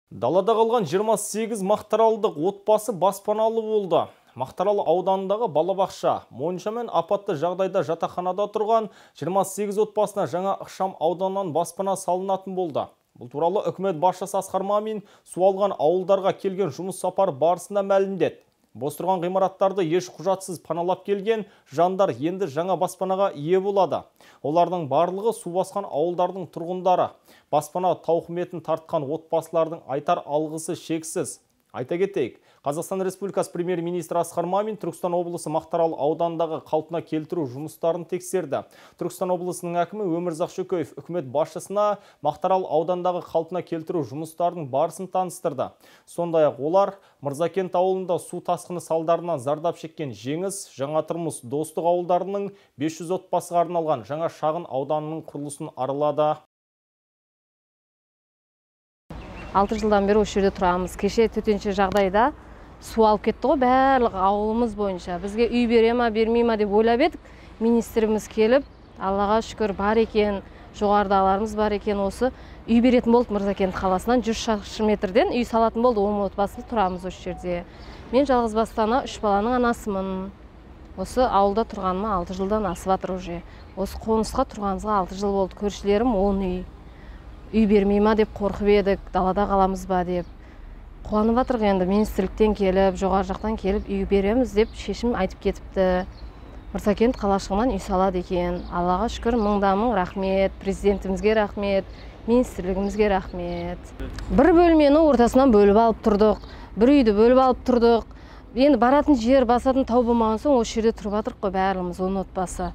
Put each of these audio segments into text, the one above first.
Далада қалған 28 мақтаралдық отбасы баспаналы болды. Мақтаралы ауданындағы балабақша монша мен апатты жағдайда жатақханада тұрған 28 отбасына жаңа ықшам ауданнан баспана салынатын болды. Бұл туралы үкімет басшысы Асқар Мамин су алған ауылдарға келген жұмыс сапары барысында мәлімдеді. Бос тұрған ғимараттарды еш құжатсыз паналап келген жандар енді жаңа баспанаға ие болады. Олардың барлығы су басқан ауылдардың тұрғындары. Баспана тауқыметін тартқан отбасылардың айтар алғысы шексіз. Айта кетейік, Қазақстан Республикасы премьер-министрі Асқар Мамин Түркістан облысы Мақтарал аудандағы қалпына келтіру жұмыстарын тексерді. Түркістан облысының әкімі Өмірзақ Шөкеев үкімет басшысына Мақтарал аудандағы қалпына келтіру жұмыстарының барысын таныстырды. Сондай-ақ олар Мырзакент ауылында су тасқыны салдарынан зардап шеккен Жеңіс, Жаңатұрмыс, Достық ауылдарының 500 отбасыға арналған жаңа шағын ауданының құрылысын аралады. 6 жылдан бері осы жерде тұрамыз. Кеше төтенше жағдайда су алып кетті ғой, барлық ауылымыз бойынша. Бізге үй бере ма, бермей ма деп ойлап едік. Министріміз келіп, Аллаға шүкір бар екен, жоғарыдағыларымыз бар екен, осы үй беретін болды Мырзакент қаласынан 100 шаршы метрден үй салатын болды. 10 отбасы тұрамыз осы жерде. Мен жалғыз бастана 3 баланың анасымын. Осы ауылда тұрғаныма 6 жылдан асып жатыр уже. Осы қонысқа тұрғанымызға 6 жыл болды. Көршілерім 10 үй бермей ма деп қорқып едік, далада қаламыз ба деп. Қуанып жатырық енді, министрліктен келіп, жоғары жақтан келіп үй береміз деп шешім айтып кетіпті. Мырзакент қалашығынан үй салады екен. Аллаға шүкір, мың рахмет, президентімізге рахмет, министрлігімізге рахмет. Бір бөлмені ортасынан бөліп алып тұрдық, бір үйді бөліп алып тұрдық. Енді баратын жер, басатын тау болмаған соң осы жерде тұрып жатырық қой бәріміз 10 отбасы.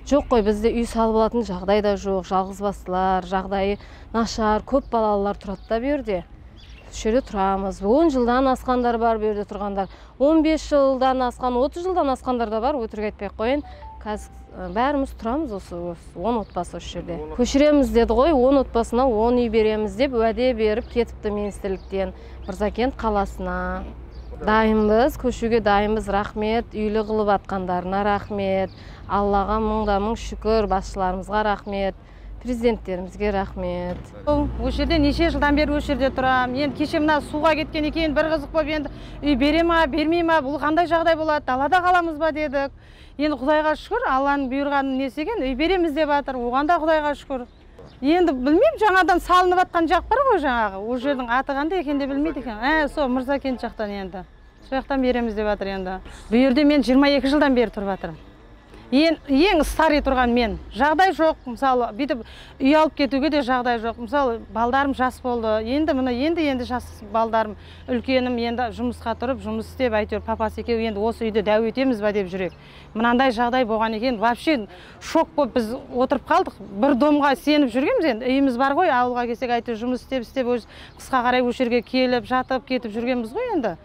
Жоқ қой, бізде үй салып алатын жағдай да жоқ, жалғыз бастылар, жағдайы нашар, көп балалылар тұрады да берде. Осы жерде тұрамыз. 10 жылдан асқандар бар берде тұрғандар. 15 жылдан асқан, 30 жылдан асқандар да бар, өтірік айтпай қойын. Қазір бәріміз тұрамыз осы 10 отбасы осы жерде. Көшіреміз деді ғой, 10 отбасына 10 үй береміз деп уәде беріп кетіпті министрліктен Мырзакент қаласына. Дайынбыз, көшуге дайынбыз, рахмет, үйлі қылып атқандарына рахмет, Аллаға мың шүкір, басшыларымызға рахмет, президенттерімізге рахмет. Осы жерде неше жылдан бері осы жерде тұрам. Енді кеше мына суға кеткен екен, бір қызық болып енді үй бере ма, бермей ма, бұл қандай жағдай болады, далада қаламыз ба дедік. Енді Құдайға шүкір, Алланың бұйырғанын несі екен, үй береміз деп жатыр, оған да Құдайға шүкір. Енді білмеймін, жаңадан салынып жатқан жақ бар ғой жаңағы. Ол жердің аты қандай екен де білмейді екен. Сол Мырзакент жақтан енді. Сол жақтан береміз деп жатыр енді. Бұл жерде мен 22 жылдан бері тұрып жатырмын. Ең старый тұрған мен. Жағдай жоқ, мысалы, бүйтіп үй алып кетуге де жағдай жоқ. Мысалы, балдарым жас болды. Енді жас балдарым, үлкенім енді жұмысқа тұрып, жұмыс істеп, әйтеуір папасы екеуі енді осы үйді дәу етеміз ба деп жүрек. Мынандай жағдай болған екен, вообще шок болып біз отырып қалдық. Бір домға сеніп жүргенбіз енді. Үйіміз бар ғой, ауылға келсек әйтеуір жұмыс істеп, қысқа қарай осы жерге келіп, жатып, кетіп жүргенбіз ғой енді.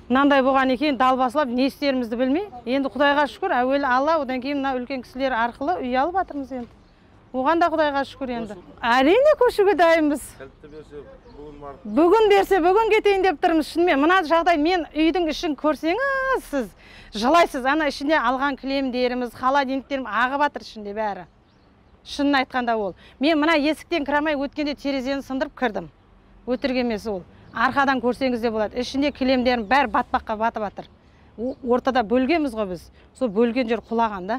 Мынандай болған екен, далбасылап, не істерімізді білмей. Енді Құдайға шүкір, әуелі Алла, одан кейін мына үлкен кісілер арқылы үй алып жатырмыз енді. Оған да Құдайға шүкір енді. Әрине көшуге дайынбыз. Бүгін берсе, бүгін кетейін деп тұрмыз. Шынымен, мына жағдай, мен үйдің ішін көрсеңіз, сіз жылайсыз. Ана ішінде алған кілемдеріміз, холодильниктерім ағып жатыр ішінде бәрі. Шынын айтқанда ол. Мен мына есіктен кірамай өткенде терезені сындырып кірдім. Өтірік емес ол. Арқадан көрсеңіз де болады. Ішінде кілемдерім бәрі батпаққа батып жатыр. Ортада бөлгенбіз ғой біз. Сол бөлген жер құлаған да.